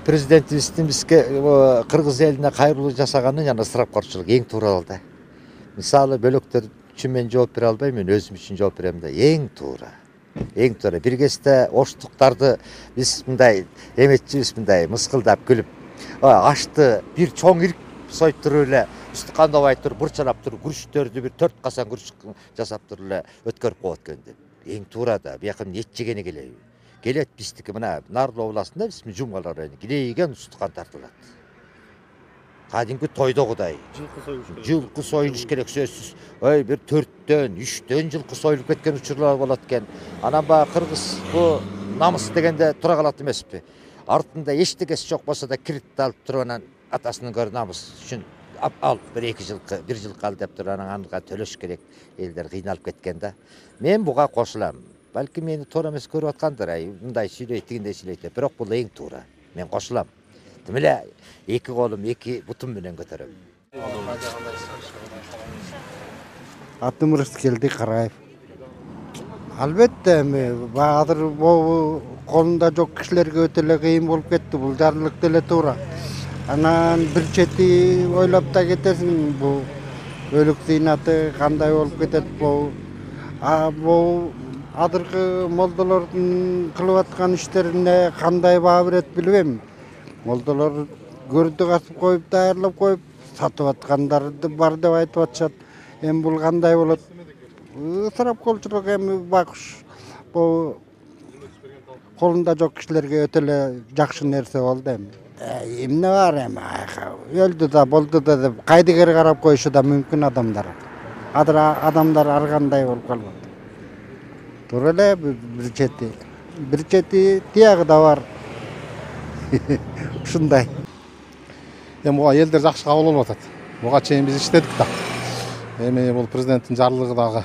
президентибиздин бизге кыргыз элине кайрылуу жасаганы жана ысырапкорчулук эң туура да. Мисалы бөлөктөр үчүн мен жооп бере албайм, мен өзүм үчүн жооп берем да. Эң туура. Эң туура. Бир кезде оштуктарды биз мындай эметчибиз, мындай мыскылдап күлүп, ашты бир чоң ирик союп туруп эле, үстү кандабай туруп, бурчалап туруп, күрүчтөрдү бир 4 касан күрүч жасап туруп эле өткөрүп коет экен деп. Эң туура да. Бияка эт жегени келеби? Келет биздики мына Нарлоо областында биз Жумгалар району килейген устукан тартылат. Кадимки тойдогудай. Жылкы союлуш керек сөзсүз. Бир 4төн, 3төн жылкы союлуп кеткен учурлар болот экен. Анан баягы кыргыз бу намыс дегенде тура калат эмеспи? Артында эчтегеси жок болсо да кредит алып туруп анан атасынын көрү намыс үчүн ал бир жылкы ал деп туруп анан анга төлөш керек. Элдер кыйналып кеткен да. Мен буга кошулам. Балки мени туура эмес көрүп аткандыр, мындай сүйлөйт, тигиндей сүйлөйт деп. Бирок бул эң туура. Мен кошулам. Тим эле эки колум, эки бутум менен көтөрөм. Атым Рыскелди Караев. Албетте, азыр колунда жок кишилерге өтө эле кыйын болуп кетти. Бул жарлык деле туура. Анан бир чети ойлоп да кетесиң, бул өлүк зыйнаты кандай болуп кетет бул. Бул азыркы молдолордун кылып аткан иштерине кандай баа берет билбейм. Молдолор көрдү касып коюп, даярлап коюп, сатып аткандар бар деп айтып атышат. Эми бул кандай болот? Ысырапкорчулук эми байкуш бул колунда жок кишилерге өтө эле жакшы нерсе болду эми. Эмне бар эми? Өлдү да, болду да деп кайдыгер карап коюшу да мүмкүн адамдар. Азыр адамдар ар кандай болуп калган. Туура эле бир чети тиягы да бар. Ушундай. Эми буга элдер жакшы кабыл алып атат. Буга чейин биз иштедик да. Эми бул президенттин жарлыгы дагы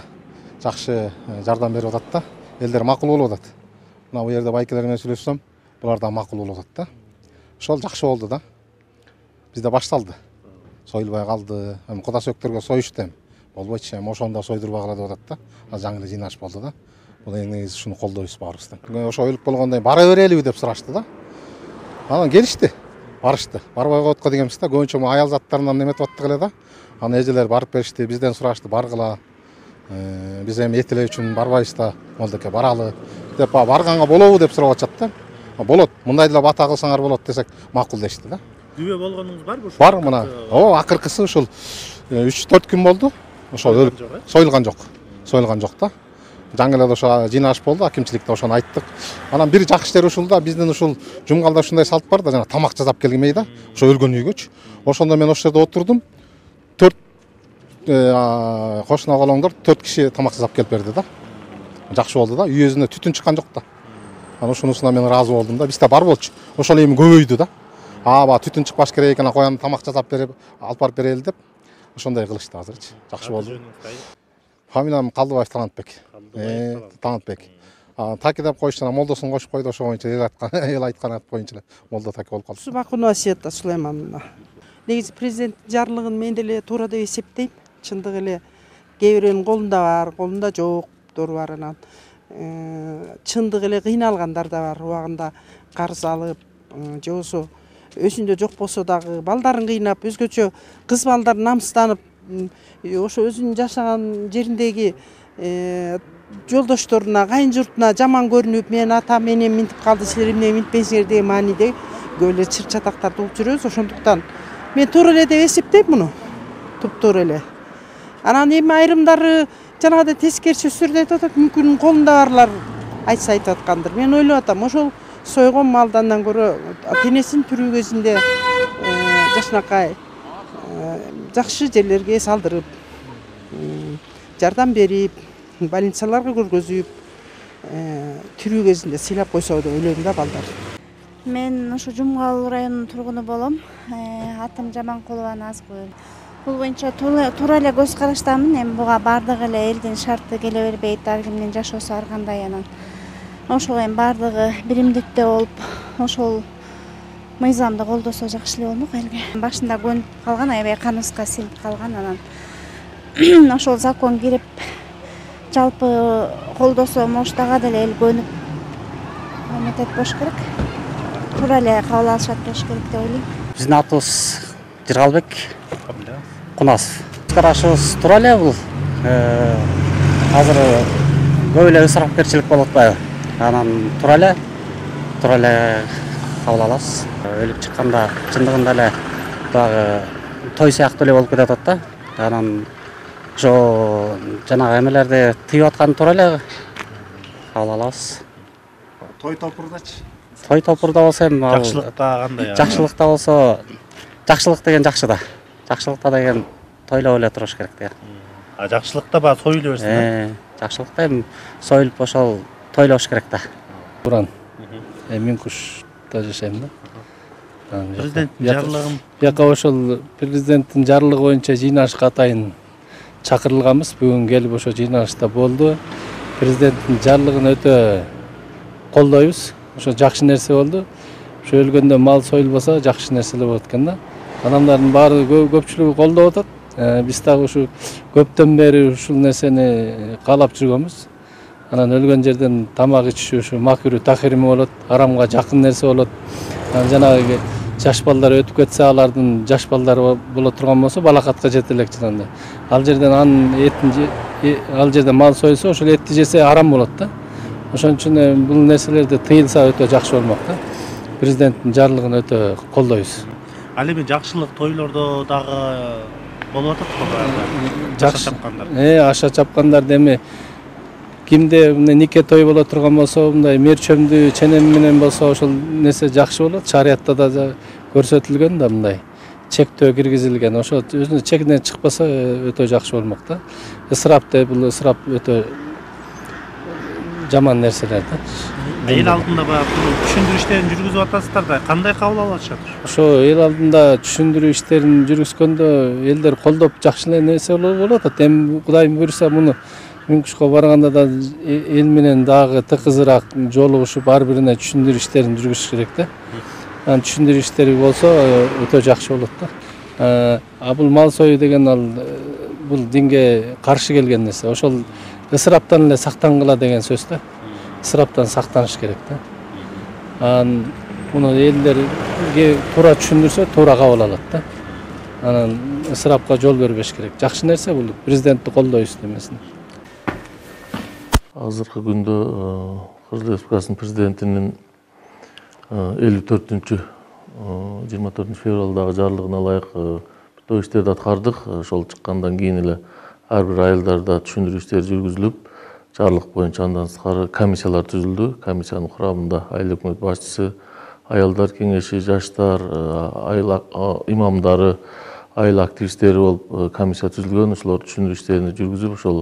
жакшы жардам берип атат да. Элдер макул болуп атат. Мына бу жерде байкелер менен сүйлөшсөм, булар да макул болуп атат да. Ошол жакшы болду да. Бизде башталды. Союлбай калды. Эми куда сөктөргө союшту эми. Болбойчу, эми ошондо сойдурбагыла деп атат да. Азыр жаңы эле жыйнаш болду да. Бул эң негизи ушуну колдойбуз баарыбыздан. Ошо өлүп болгондон кийин бара берелиби деп сурашты да. Анан келишти. Барышты. Барбай коетко дегенбиз да. Көбүнчө аял заттарынан неметип аттык эле да. Анан эжелер барып беришти, бизден сурашты, баргыла. Биз эми эт эле үчүн барбайбыз да. Молдоке баралы деп барганга болобу деп сурап атышат да. Болот. Мындай деле бата кылсаңар болот десек, макул дешти да. Күбө болгонуңуз барбы? Бар мына. Акыркысы ушул 3-4 күн болду. Ошол өлүп союлган жок. Союлган жок да. Жаңы эле ошо жыйнаш болду, акимчиликте ошону айттык. Анан бир жакшы жери ушул да, биздин ушул Жумгалда ушундай салт бар да, жана тамак жасап келмей да, ошо өлгөн үйгөчү. Ошондо мен ошол жерде отурдум. 4 кошуна колоңдор 4 киши тамак жасап келип берди да. Жакшы болду да, үй өзүнө түтүн чыккан жок да. Анан ошонусуна мен ыраазы болдум да. Бизде бар болчу. Ошол эми көбөйдү да. Баягы түтүн чыкпаш керек экен, коян тамак жасап берип, алып барып берели деп ошондой кылышты азырчы. Жакшы болду. Фамилиям Калдыбаев Талантбек. Талантбек. Таки деп коюштан молдосун кошуп койду, ошо боюнча эл айткан ат боюнча эле молдо таки болуп калды. Субакунова Света Сулаймановна. Негизи президенттин жарлыгын мен деле туура деп эсептейм. Чындык эле кээ бирөөнүн колунда бар, колунда жоктор бар. Анан чындык эле кыйналгандар да бар. Убагында карыз алып, же болбосо өзүндө жок болсо дагы балдарын кыйнап, өзгөчө кыз балдар намыстанып, ошо өзүнүн жашаган жериндеги жолдошторуна, кайын журтуна жаман көрүнүп, мен атам менен минтип калды, силер эмне минтпейсиңер деген мааниде көп эле чыр чатактарды угуп жүрөбүз. Ошондуктан мен туура эле деп эсептейм муну. Туптуура эле. Анан эми айрымдары жанагыдай тескери сөздөрдү айтып атат, мүмкүн колунда барлар айтса айтып аткандыр. Мен ойлоп атам, ошол сойгон малдандан көрө денесин тирүү кезинде жакшынакай жакшы жерлерге салдырып, жардам берип, больницаларга көргөзүп, тирүү кезинде сыйлап койсо деп ойлойм да балдар. Мен ошо Жумгал районунун тургуну болом. Атым Жаманкулова Назгүл. Бул боюнча туура эле көз караштамын. Эми буга бардык эле элдин шарты келе бербейт, ар кимдин жашоосу ар кандай. Анан ошол эми бардыгы биримдикте болуп, ошол мыйзамды колдосо жакшы эле болмок элге. Башында көнүп калган, аябай каныбызга сиңип калган. Анан ошол закон кирип, жалпы колдосо, может, ага деле эл көнүп эметет болуш керек. туура эле кабыл алышат болуш керек деп ойлойм. Биздин атыбыз Жыргалбек Кунасов. Карашыбыз туура эле бул. Азыр көп эле ысырапкерчилик болуп атпайбы? Анан туура эле кабыл алабыз. Өлүп чыкканда чындыгында эле дагы той сыяктуу эле болуп кетип атат да. Анан ошо жанагы эмелерди тыйып аткан туура эле кабыл алабыз. Той топурдачы? Той топурда болсо эми Жакшылыкта кандай? Жакшылыкта болсо, жакшылык деген жакшы да. Жакшылыкта деген тойлоп эле туруш керек да. Жакшылыкта баягы союла берсин. Жакшылыкта эми союлуп ошол тойлош керек да. Буран. Минкушта жашайм да. Президенттин жарлыгын Бияка ошол президенттин жарлыгы боюнча жыйналышка атайын чакырылганбыз. Бүгүн келип ошо жыйналышта болду. Президенттин жарлыгын өтө колдойбуз. Ошо жакшы нерсе болду. Ошо өлгөндө мал союлбаса жакшы нерселер болот экен да. Адамдардын баары көпчүлүгү колдоп атат. Биз дагы ушу көптөн бери ушул нерсени каалап жүргөнбүз. Анан өлгөн жерден тамак ичиши ушу макру тахирими болот, арамга жакын нерсе болот. Жанагы жаш балдар өтүп кетсе, алардын жаш балдары боло турган болсо балакатка жете элек жана. Ал жерден ал жерде мал союлса, ошол этти жесе арам болот да. Ошон үчүн бул нерселерди тыйылса өтө жакшы болмок да. Президенттин жарлыгын өтө колдойбуз. Ал эми жакшылык тойлордо дагы болуп атат го. Аша чапкандар. Аша чапкандар эми кимде нике той боло турган болсо, мындай мерчөмдүү ченем менен болсо ошол нерсе жакшы болот. Шариятта да көрсөтүлгөн да мындай чектөө киргизилген. Ошо өзүнүн чегинен чыкпаса өтө жакшы болмок да. Ысырап бул ысырап өтө жаман нерселер да. Эл алдында баягы түшүндүрүү иштерин жүргүзүп атасыздар да, кандай кабыл алып атышат? Ошо эл алдында түшүндүрүү иштерин жүргүзгөндө элдер колдоп жакшы нерсе болуп атат. Эми Кудайым буйруса муну Минкушка барганда да эл менен дагы тыкызыраак жолугушуп ар бирине түшүндүрүү иштерин жүргүзүш керек да. Анан түшүндүрүү иштери болсо өтө жакшы болот да. Бул мал сою деген ал бул динге каршы келген нерсе. Ошол ысыраптан эле сактангыла деген сөз да. Ысыраптан сактаныш керек да. Анан муну элдерге туура түшүндүрсө туура кабыл алат да. Анан ысырапка жол бербеш керек. Жакшы нерсе бул президентти колдойбуз демесин. Азыркы күндө Кыргыз Республикасынын президентинин 54-24 февралдагы жарлыгына ылайык той иштерди аткардык. Ошол чыккандан кийин эле ар бир айылдарда түшүндүрүү иштери жүргүзүлүп, жарлык боюнча андан тышкары комиссиялар түзүлдү. Комиссиянын курамында айыл өкмөт башчысы, аялдар кеңеши, жаштар, айыл имамдары, айыл активисттери болуп комиссия түзүлгөн. Ошолор түшүндүрүү иштерин жүргүзүп, ошол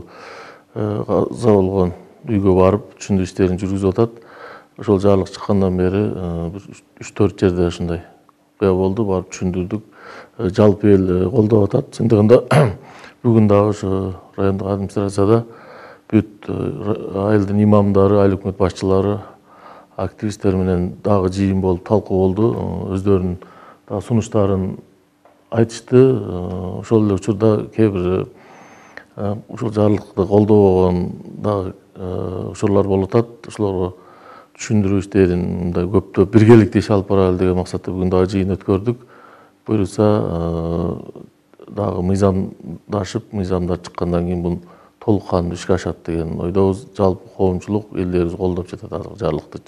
каза болгон үйгө барып түшүндүрүү иштерин жүргүзүп атат. Ошол жарлык чыккандан бери 3-4 жерде ушундай окуя болду, барып түшүндүрдүк. Жалпы эл колдоп атат. Чындыгында бүгүн дагы ошо райондук администрацияда бүт айылдын имамдары, айыл өкмөт башчылары, активисттер менен дагы жыйын болуп талкуу болду. Өздөрүнүн дагы сунуштарын айтышты. Ошол эле учурда кээ бир ушул жарлыкты колдобогон дагы ошолор болуп атат. Ошолорго түшүндүрүү иштерин мындай көптөп биргеликте иш алып баралы деген максатта бүгүн дагы жыйын өткөрдүк. Буюрса дагы мыйзамдар чыккандан кийин бул толук кандуу ишке ашат деген ойдобуз. Жалпы коомчулук элдерибиз колдоп жатат азыр жарлыкты.